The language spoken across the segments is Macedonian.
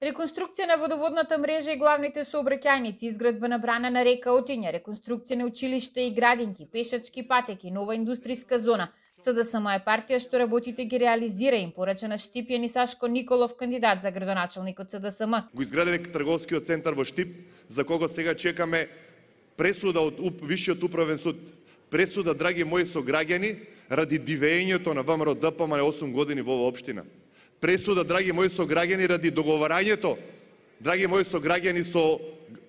Реконструкција на водоводната мрежа и главните сообраќајници, изградба на брана на река Отиња, реконструкција на училишта и градинки, пешачки патеки, нова индустријска зона. СДСМ е партија што работите ги реализира, им порача на Штипјан и Сашко Николов, кандидат за градоначалник од СДСМ. Го изградиле трговскиот центар во Штип, за кого сега чекаме пресуда од Висшиот управен суд. Пресуда, драги мои сограѓани, ради дивењето на ВМРО ДПМН 8 години во оваа општина. Пресуда, драги мои сограѓани, ради договарањето, драги мои сограѓани, со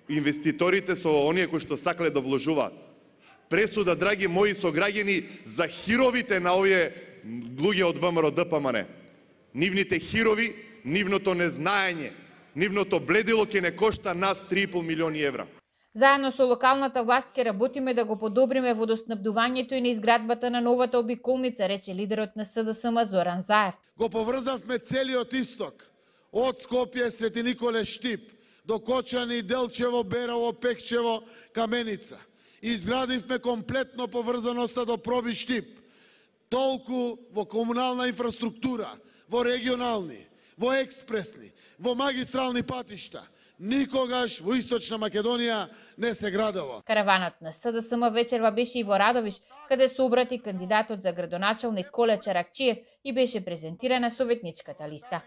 инвеститорите, со оние кои што сакале да вложуваат. Пресуда, драги мои сограѓани, за хировите на овие луѓе од ВМРО ДПМН. Нивните хирови, нивното незнаење, нивното бледило ќе не кошта нас 3,5 милиони евра. Заедно со локалната власт ќе работиме да го подобриме водоснабдувањето и на изградбата на новата обиколница, рече лидерот на СДСМ Зоран Заев. Го поврзавме целиот исток, од Скопје, Свети Николе, Штип, до Кочани, Делчево, Берово, Пекчево, Каменица. Изградивме комплетно поврзаноста до Проби Штип, толку во комунална инфраструктура, во регионални, во експресни, во магистрални патишта. Никогаш во Источна Македонија не се градело. Караванот на СДСМ вечерва беше и во Радовиш, каде се обрати кандидатот за градоначалник Коле Чаракчиев и беше презентирана советничката листа.